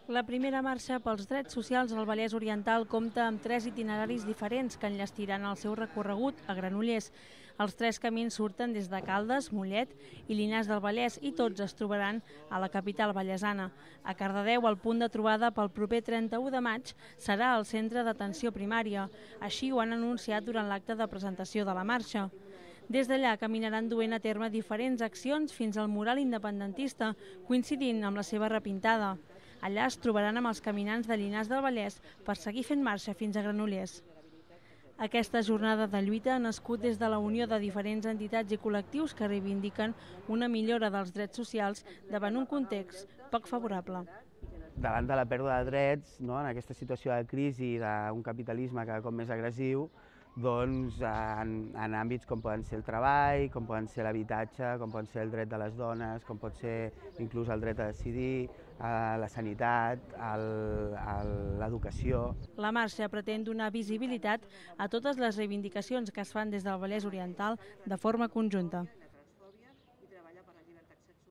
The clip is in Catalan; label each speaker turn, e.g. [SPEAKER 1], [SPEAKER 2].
[SPEAKER 1] La primera marxa pels drets socials al Vallès Oriental compta amb 3 itineraris diferents que enllestiran el seu recorregut a Granollers. Els 3 camins surten des de Caldes, Mollet i Llinars del Vallès i tots es trobaran a la capital vallesana. A Cardedeu, el punt de trobada pel proper 31 de maig serà el centre d'atenció primària. Així ho han anunciat durant l'acte de presentació de la marxa. Des d'allà caminaran duent a terme diferents accions fins al mural independentista, coincidint amb la seva repintada. Allà es trobaran amb els caminants de Llinars del Vallès per seguir fent marxa fins a Granollers. Aquesta jornada de lluita ha nascut des de la unió de diferents entitats i col·lectius que reivindiquen una millora dels drets socials davant un context poc favorable.
[SPEAKER 2] Davant de la pèrdua de drets, en aquesta situació de crisi d'un capitalisme cada cop més agressiu, doncs en àmbits com poden ser el treball, com poden ser l'habitatge, com poden ser el dret de les dones, com pot ser inclús el dret a decidir, la sanitat, l'educació.
[SPEAKER 1] La marxa pretén donar visibilitat a totes les reivindicacions que es fan des del Vallès Oriental de forma conjunta.